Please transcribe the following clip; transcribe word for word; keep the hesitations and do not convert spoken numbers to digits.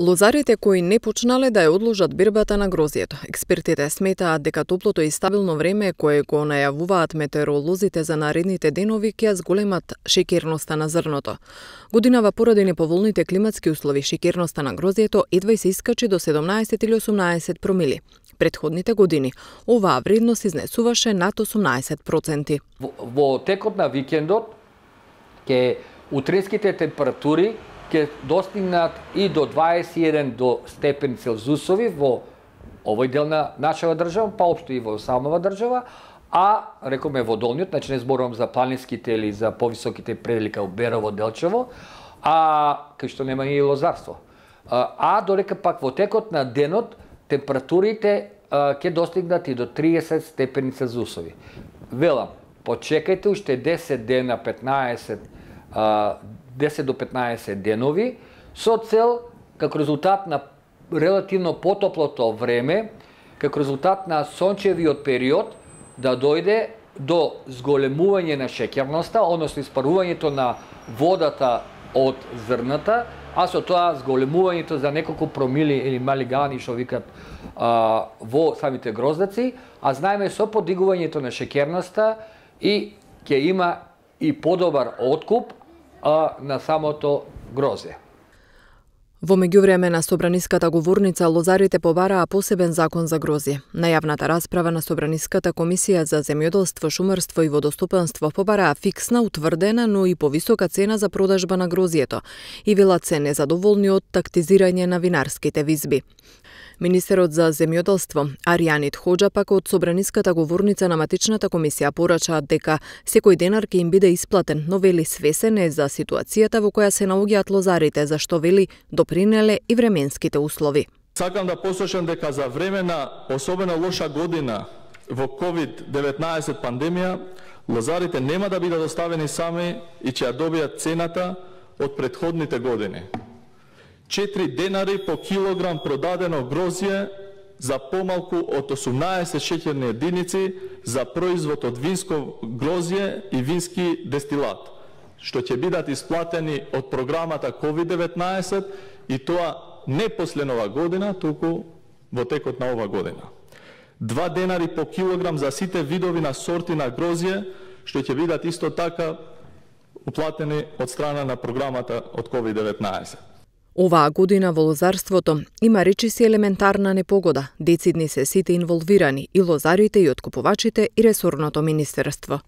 Лозарите кои не почнале да ја одложат бербата на грозјето. Експертите сметаат дека топлото и стабилно време кое го најавуваат метеоролозите за наредните денови ќе ја зголемат шеќерноста на зрното. Годинава поради неповолните климатски услови шеќерноста на грозјето едва и се искачи до седумнаесет или осумнаесет промили. Предходните години оваа вредност изнесуваше над осумнаесет проценти. Во, во текот на викендот ќе утринските температури ќе достигнат и до дваесет и еден до степен Целзиусови во овој дел на нашава држава, па општо и во самава држава, а рекоме во долниот, значи не зборувам за планинските или за повисоките предели као Берово, Делчево, а кај што нема и лозарство. А, а додека пак во текот на денот температурите ќе достигнат и до триесет степени Целзиусови. Велам, почекајте уште десет дена, петнаесет а, десет до петнаесет денови, со цел, како резултат на релативно потоплото време, како резултат на сончевиот период, да дојде до зголемување на шеќерноста, односно испарувањето на водата од зрната, а со тоа зголемувањето за неколку промили или малигани, што викат а, во самите гроздаци, а знаеме со подигувањето на шеќерноста и ќе има и подобар откуп а, на самото грозје. Во меѓувреме на Собраниската говорница лозарите побараа посебен закон за грозје. На јавната расправа на Собраниската комисија за земјоделство, шумарство и водостопанство побараа фиксна, утврдена, но и повисока цена за продажба на грозјето и велат се незадоволни од тактизирање на винарските визби. Министерот за земјоделство Аријанит Хоџа пак од Собраниската говорница на матичната комисија порачаат дека секој денар ќе им биде исплатен, но вели свесен е за ситуацијата во која се наоѓаат лозарите, зашто вели допринеле и временските услови. Сакам да посочам дека за време на особено лоша година во ковид деветнаесет пандемија, лозарите нема да бидат оставени сами и ќе ја добијат цената од претходните години. четири денари по килограм продадено грозје за помалку од осумнаесет шеќерни единици за производ од винско грозје и вински дестилат, што ќе бидат исплатени од програмата ковид деветнаесет и тоа не после ова година, туку во текот на ова година. Два денари по килограм за сите видови на сорти на грозје, што ќе бидат исто така уплатени од страна на програмата од ковид деветнаесет. Оваа година во лозарството има речиси елементарна непогода. Децидни се сите инволвирани, и лозарите, и откупувачите, и ресорното министерство.